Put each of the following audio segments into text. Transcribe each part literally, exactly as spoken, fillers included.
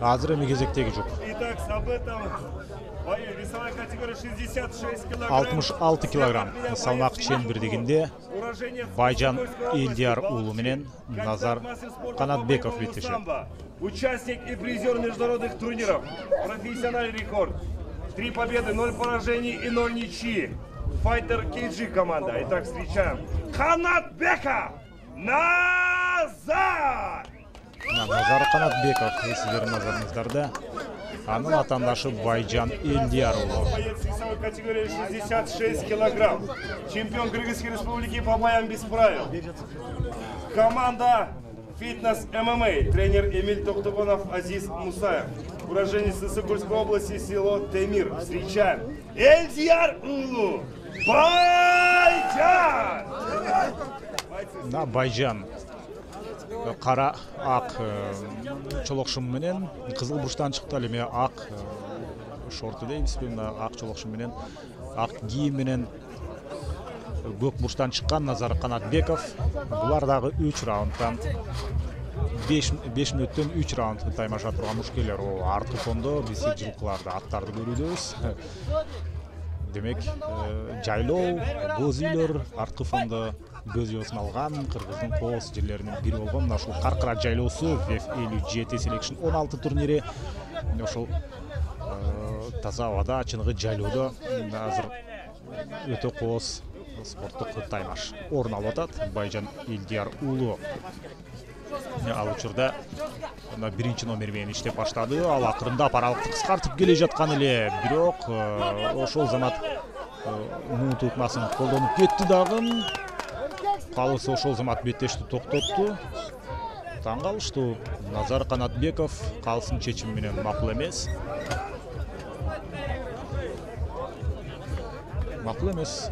Азыр эми кезектеги жок. Итак, событом бою весовая категория шестьдесят шесть килограмм. алтымыш алты килограмм салмак чембирдигинде Байжан Элдияр уулу менен Назар Канатбеков беттешет. Участник и призер международных турниров. Профессиональный рекорд. Три победы, ноль поражений и ноль ничьи. Файтер Кейджи команда. Итак, встречаем Канатбеков Назар! Назар Канатбеков сиздердин назарыңыздарда. Анын атандашы Байжан Элдияр уулу. Боец весовой категории шестьдесят шесть килограмм. Чемпион Кыргызской республики по боям без правил. Команда Фитнес ММА. Тренер Эмиль Токтогонов, Азиз Мусаев. Уроженец Сысыкульской области, село Темир. Встречаем Элдияр уулу Байжан! На Байжан кара ак чолокшум менен кызыл бурчтан чыкты, ал эми ак шорту дейбизби, мына ак чолокшум менен ак кийим менен көк бурчтан чыккан Назар Канатбеков. Булар дагы үч раундтан беш мүнөттөн үч раундты таймаша турган мушкелер. О арткы фондо биз жылкыларды, аттарды көрүүбүз. Демек, жайлоо, боз үйлөр, арткы фондо көз жобосун алган Кыргыздын кооз жерлеринин бири болгон мына ушул Каркыра жайлоосу веф элүү жети селекшн он алты турнири. Ошол таза абада, чыныгы жайлоодо азыр өтө кооз спорттук таймаш орун алып атат. Байжан Элдияр уулу ал учурда биринчи номер менен иштеп баштады. Ал акырындап аралыкты кыскартып келе жаткан эле, бирок ошол замат муут ыкмасын колдонуп кетти дагы. Калысы ошол замат беттешти токтотту. Таң калыштуу. Назар Канатбеков калысын чечими менен макул эмес. Макул эмес.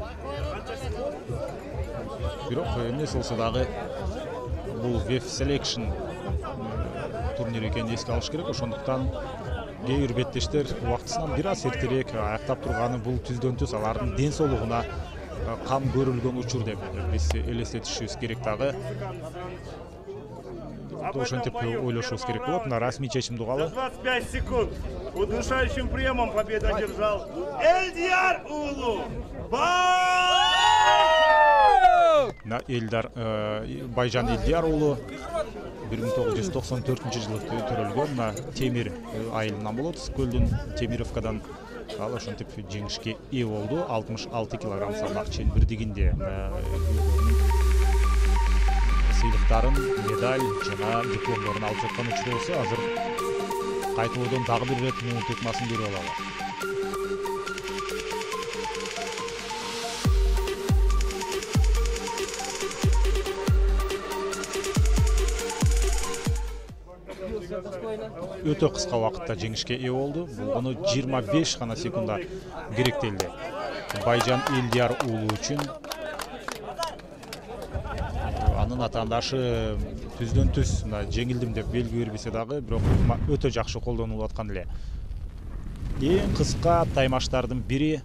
Бирок эмне болсо дагы бул веф селекшн турнири экенин эске алыш керек. Ошондуктан кээ бир беттештер убактысынан бир аз эртерээк аяктап турганы бул түздөн түз алардын ден соолугуна кам көрүлгөн учур деп биз элестетишибиз керек дагы. Ошентип ойлошубуз керек болот. Мына расмий чечимди угалы. двадцать пять секунд. Удушающим приемом победу одержал Элдияр уулу На Элдар Байжан Элдияр уулу бир миң тогуз жүз токсон төртүнчү жылы төрөлгөн. Мына Темир айылынан болот, Көлдүн Темировкадан. Ал ошентип жеңишке ээ болду. алтымыш алты килограмм салмак чембирдигинде сыйлыктарын, медаль жана дипломдорун алып жаткан учурубуз. Азыр кайтылуудан дагы бир рет муут ыкмасын көрүп алалы. Өтө кыска убакытта жеңишке ээ болду. Буну жыйырма беш гана секунда керектелди. Байжан Элдияр уулу үчүн анын атаандашы түздөн түз жеңилдим деп белги бербесе дагы, бирок өтө жакшы колдонулуп аткан эле. Эң кыска таймаштардын бири